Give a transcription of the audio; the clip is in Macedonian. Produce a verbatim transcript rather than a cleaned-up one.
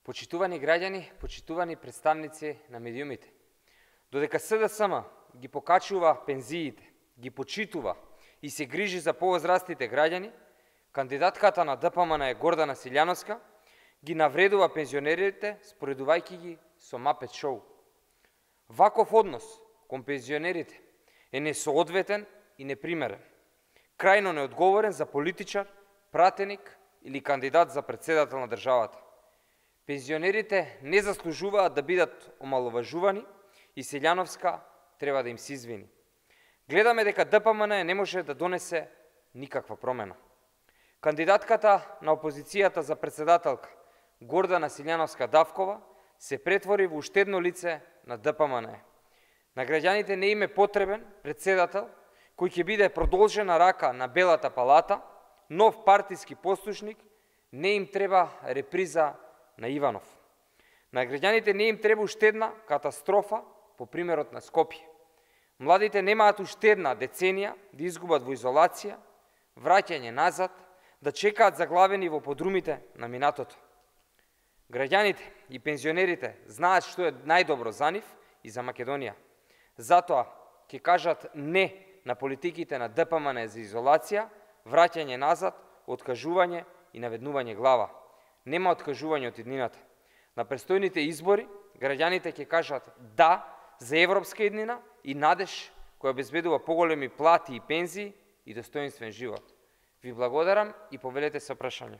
Почитувани граѓани, почитувани представници на медиумите. Додека СДСМ ги покачува пензиите, ги почитува и се грижи за повозрастните граѓани, кандидатката на ДПМН Гордана Силјановска ги навредува пензионерите, споредувајќи ги со Мапет шоу. Ваков однос кон пензионерите е несоодветен и непримерен, крајно неодговорен за политичар, пратеник или кандидат за председател на државата. Пензионерите не заслужуваат да бидат омаловажувани и Силјановска треба да им се извини. Гледаме дека ДПМН не може да донесе никаква промена. Кандидатката на опозицијата за председателка Гордана Силјановска Давкова се претвори во уште едно лице на ДПМН. На граѓаните не им е потребен председател кој ќе биде продолжена рака на Белата палата, нов партиски послушник, не им треба реприза на Иванов. На граѓаните не им треба уште една катастрофа по примерот на Скопје. Младите немаат уште една деценија да изгубат во изолација, враќање назад, да чекаат заглавени во подрумите на минатото. Граѓаните и пензионерите знаат што е најдобро за нив и за Македонија. Затоа ќе кажат не на политиките на ДПМН за изолација, враќање назад, откажување и наведнување глава. Нема откажување од иднината. На престојните избори граѓаните ќе кажат да за европска иднина и надеж која обезбедува поголеми плати и пензии и достоинствен живот. Ви благодарам и повелете се прашање.